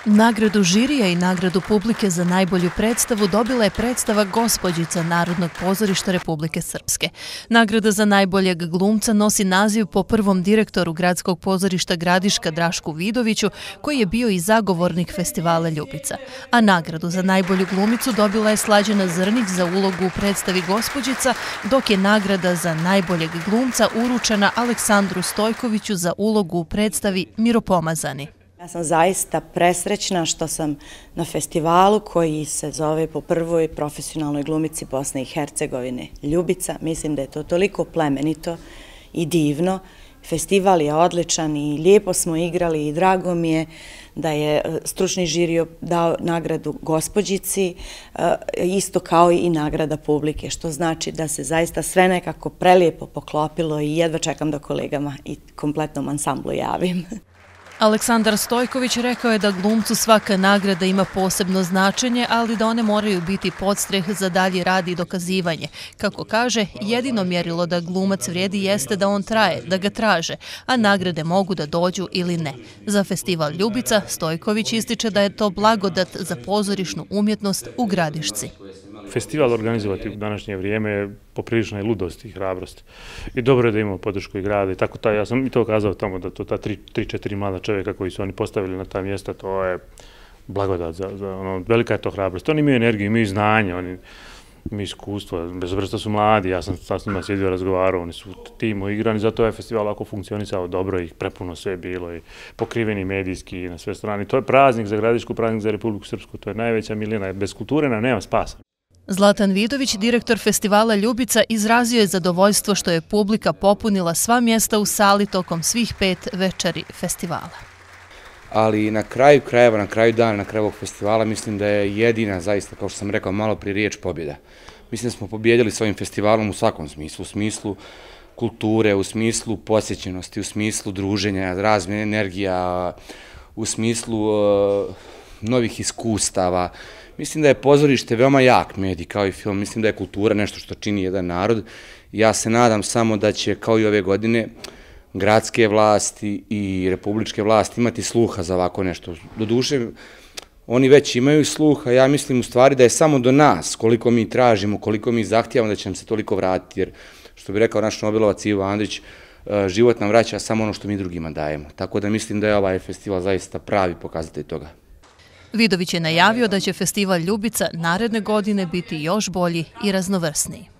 Nagradu žirija i nagradu publike za najbolju predstavu dobila je predstava Gospođica Narodnog pozorišta Republike Srpske. Nagrada za najboljeg glumca nosi naziv po prvom direktoru Gradskog pozorišta Gradiška Drašku Vidoviću, koji je bio i zagovornik festivala Ljubica. A nagradu za najbolju glumicu dobila je Slađana Zrnić za ulogu u predstavi Gospođica, dok je nagrada za najboljeg glumca uručena Aleksandru Stojkoviću za ulogu u predstavi Miropomazani. Ja sam zaista presrećna što sam na festivalu koji se zove po prvoj profesionalnoj glumici Bosne i Hercegovine Ljubica. Mislim da je to toliko plemenito i divno. Festival je odličan i lijepo smo igrali i drago mi je da je stručni žiri dao nagradu Gospođici, isto kao i nagrada publike, što znači da se zaista sve nekako prelijepo poklopilo i jedva čekam da kolegama i kompletnom ansamblu javim. Aleksandar Stojković rekao je da glumcu svaka nagrada ima posebno značenje, ali da one moraju biti podstreh za dalji rad i dokazivanje. Kako kaže, jedino mjerilo da glumac vrijedi jeste da on traje, da ga traže, a nagrade mogu da dođu ili ne. Za festival Ljubica Stojković ističe da je to blagodat za pozorišnu umjetnost u Gradišci. Festival organizovati u današnje vrijeme je poprilična je ludost i hrabrost. I dobro je da imamo podršku i grada i tako ja sam i to kazao tamo da to ta 3-4 mlada čovjeka koji su oni postavili na ta mjesta, to je blagodat velika je to hrabrost. Oni imaju energiju, imaju znanje, oni imaju iskustvo, bez obzira što su mladi, ja sam s njima sjedio razgovarao, oni su timu igrani, zato je festival ovako funkcionisao dobro i prepuno sve bilo i pokriveni medijski na sve strane. To je praznik za Gradišku, praznik za Republiku Srpsku, to je najveća milina, bez kulture nema spasa. Zlatan Vidović, direktor festivala Ljubica, izrazio je zadovoljstvo što je publika popunila sva mjesta u sali tokom svih 5 večeri festivala. Ali na kraju krajeva, na kraju dana, na kraju ovog festivala, mislim da je jedina, zaista, kao što sam rekao malo prije, riječ pobjeda. Mislim da smo pobjedili s ovim festivalom u svakom smislu, u smislu kulture, u smislu posjećenosti, u smislu druženja, razmjene energija, u smislu novih iskustava. Mislim da je pozorište veoma jak medij kao i film, mislim da je kultura nešto što čini jedan narod. Ja se nadam samo da će kao i ove godine gradske vlasti i republičke vlasti imati sluha za ovako nešto. Doduše, oni već imaju sluha, ja mislim u stvari da je samo do nas koliko mi tražimo, koliko mi zahtijevamo da će nam se toliko vratiti, jer što bi rekao naš Nobelovac Ivo Andrić, život nam vraća samo ono što mi drugima dajemo. Tako da mislim da je ovaj festival zaista pravi pokazatelj toga. Vidović je najavio da će festival Ljubica naredne godine biti još bolji i raznovrsniji.